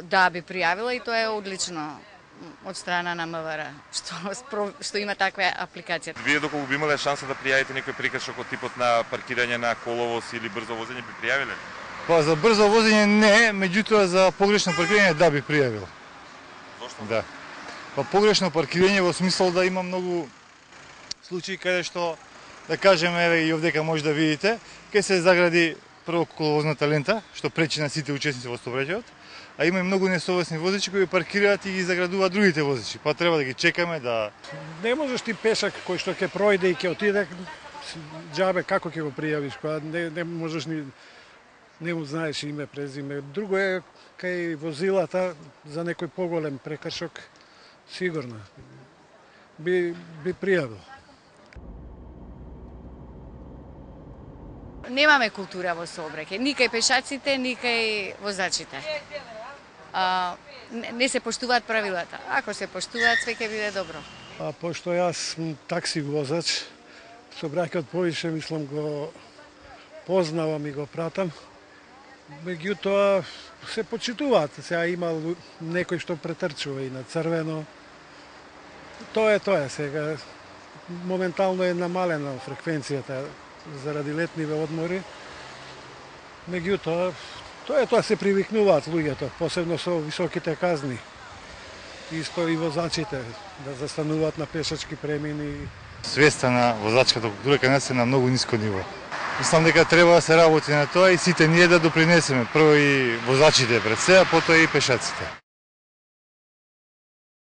Да, би пријавила и тоа е одлично од страна на МВР, што има таква апликација. Вие доколку би имале шанса да пријавите некој прекршок од типот на паркирање на коловоз или брзо возење, би пријавиле? Па за брзо возење не, меѓутоа за погрешно паркирање да би пријавил. Зошто? Да. Па погрешно паркирање во смисол да има многу случаи каде што, да кажеме, еве и овдека може да видите, ке се загради прво коловозната лента, што пречи на сите учесници во сообраќајот, а има и многу несовесни возачи кои паркираат и ги заградуваат другите возачи, па треба да ги чекаме да... Не можеш ти пешак кој што ќе пројде и ќе отиде, џабе како ќе го пријавиш, кога не можеш ни... Не му знаеш име, презиме. Друго е кај возилата за некој поголем прекршок, сигурно би пријавил. Немаме култура во сообраќај, ни кај пешаците, ни кај возачите. Не се поштуваат правилата. Ако се поштуваат, све ќе биде добро. Пошто јас сум такси возач, сообраќајот повише, мислам, го познавам и го пратам. Меѓутоа се почитуваат. Сега има некој што претрчува и на црвено. Тоа е сега. Моментално е намалена фреквенцијата заради летниве одмори. Меѓутоа, тоа се привикнуваат луѓето, посебно со високите казни. Исто и возачите да застануваат на пешачки премини. Свеста на возачката култура кај нас е на многу ниско ниво. Мислам дека треба да се работи на тоа и сите ние да допринесеме. Прво и возачите пред се, а потоа и пешаците.